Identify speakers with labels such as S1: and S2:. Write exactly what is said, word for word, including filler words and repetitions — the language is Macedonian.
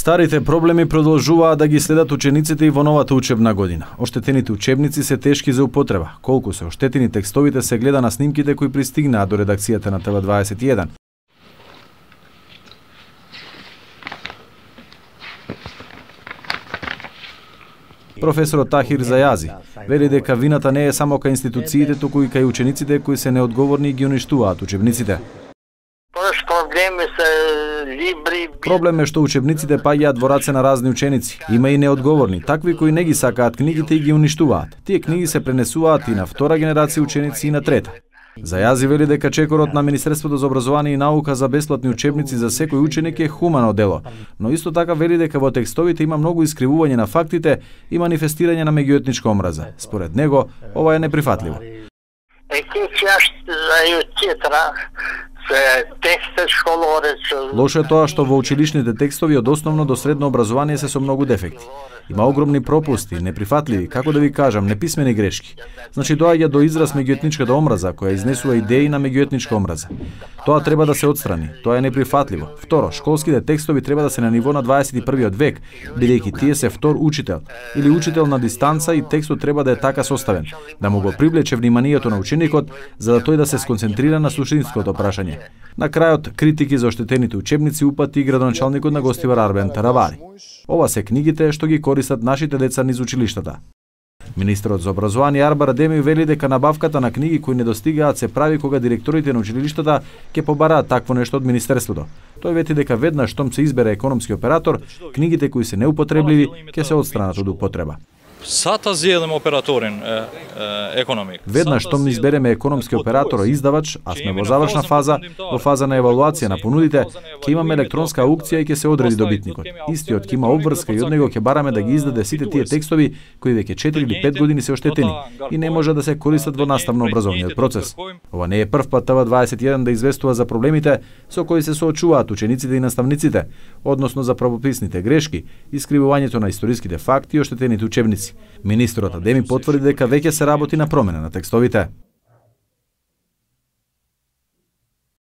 S1: Старите проблеми продолжуваат да ги следат учениците и во новата учебна година. Оштетените учебници се тешки за употреба. Колку се оштетени текстовите се гледа на снимките кои пристигнаа до редакцијата на Т В дваесет и еден. Професорот Тахир Зајази вели дека вината не е само кај институциите, туку и кај учениците кои се неодговорни и ги уништуваат учебниците. Проблем е што учебниците паѓаат во раце на разни ученици. Има и неодговорни, такви кои не ги сакаат книгите и ги уништуваат. Тие книги се пренесуваат и на втора генерација ученици и на трета. Зајази вели дека чекорот на Министерството за образование и наука за бесплатни учебници за секој ученик е хумано дело, но исто така вели дека во текстовите има многу искривување на фактите и манифестирање на меѓуетничка омраза. Според него, ова е неприфатливо. Лошо е тоа што во училишните текстови од основно до средно образование се со многу дефекти. Има огромни пропусти, неприфатливи, како да ви кажам, неписмени грешки. Значи доаѓа до израз меѓуетничката омраза, која изнесува идеи на меѓуетничка омраза. Тоа треба да се отстрани, тоа е неприфатливо. Второ, школските текстови треба да се на ниво на дваесет и првиот век, бидејќи тие се втор учител или учител на дистанца и текстот треба да е така составен, да му го привлече вниманието на ученикот, за да тој да се сконцентрира на суштинското прашање. На крајот, критики за оштетените учебници упати и градоначалникот на Гостивар Арбен Таравари. Ова се книгите што ги користат нашите деца низ училиштата. Министерот за образование Арбар Адеми вели дека набавката на книги кои недостигаат се прави кога директорите на училиштата ќе побараат такво нешто од Министерството. Тој вети дека веднаш штом се избере економски оператор, книгите кои се неупотребливи ќе се отстранат од употреба.
S2: Сата зелем операторин економик.
S1: Веднаш штом не избереме економски оператор и издавач, а сме во завршна фаза, во фаза на евалуација на понудите, ќе имаме електронска аукција и ќе се одреди добитникот. Истиот ќе има обврска и од него ќе бараме да ги издаде сите тие текстови кои веќе четири или пет години се оштетени и не може да се користат во наставно-образовниот процес. Ова не е прв пат Т В дваесет и еден да известува за проблемите со кои се соочуваат учениците и наставниците, односно за правописните грешки, искривувањето на историските факти и оштетените учебници. Министерот Адеми потврди дека веќе се работи на промена на текстовите.